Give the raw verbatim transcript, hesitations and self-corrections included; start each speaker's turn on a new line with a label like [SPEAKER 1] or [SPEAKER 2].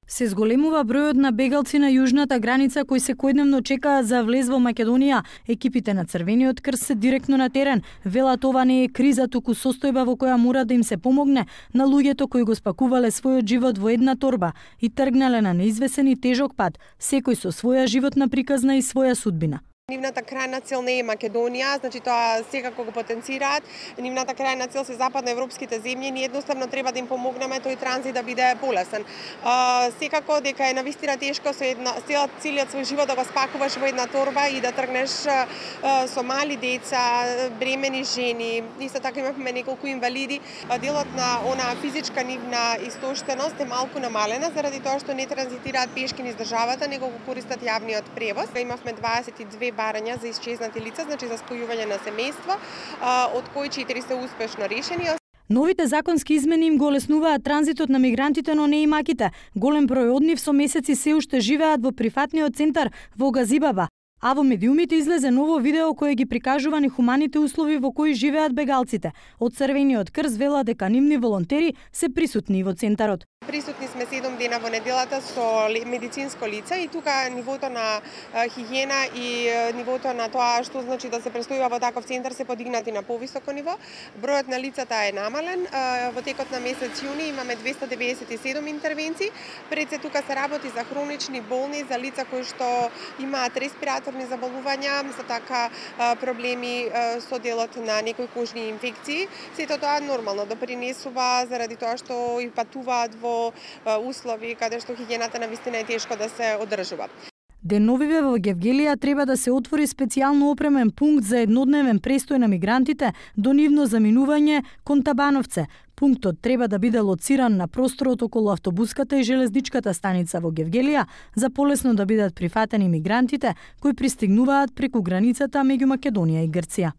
[SPEAKER 1] Се зголемува бројот на бегалци на јужната граница кои секојдневно чекаат за влез во Македонија. Екипите на Црвениот крст се директно на терен. Велат ова не е криза, туку состојба во која мора да им се помогне на луѓето кои го спакувале својот живот во една торба и тргнале на неизвесен и тежок пат, секој со своја животна приказна и своја судбина.
[SPEAKER 2] Нивната крајна цел не е Македонија, значи тоа секако го потенцираат. Нивната крајна цел се западноевропските земји, ние едноставно треба да им помогнеме тој транзит да биде полесен. А, секако дека е навистина тешко со една целиот свој живот да го спакуваш во една торба и да тргнеш а, со мали деца, бремени жени. Исто така имавме неколку инвалиди. А, делот на она физичка нивна истоштеност е малку намалена заради тоа што не транзитираат пешки низ државата, него го користат јавниот превоз. Имавме дваесет и две барања за исчезнати лица, значи за спојување на семејство, од кои четири се успешно решени.
[SPEAKER 1] Новите законски измени им го олеснуваат транзитот на мигрантите, но не и маките. Голем број од нив со месеци се уште живеат во прифатниот центар во Газибаба. А во медиумите излезе ново видео кое ги прикажува нехуманите услови во кои живеат бегалците. Од Црвениот крст вела дека нивни волонтери се присутни во центарот.
[SPEAKER 2] Присутни сме седум дена во неделата со медицинско лице и тука нивото на хигиена и нивото на тоа што значи да се престојува во таков центар се подигнати на повисоко ниво. Бројот на лицата е намален. Во текот на месец јуни имаме двесте деветдесет и седум интервенции. Пред се тука се работи за хронични болни, за лица кои што имаат респираторни заболувања, за така проблеми со делот на некои кожни инфекции. Сето тоа нормално допринесува заради тоа што и патуваат во услови каде што хигиената навистина е тешко да се одржува.
[SPEAKER 1] Деновиве во Гевгелија треба да се отвори специјално опремен пункт за еднодневен престој на мигрантите до нивно заминување кон Табановце. Пунктот треба да биде лоциран на просторот околу автобуската и железничката станица во Гевгелија за полесно да бидат прифатени мигрантите кои пристигнуваат преку границата меѓу Македонија и Грција.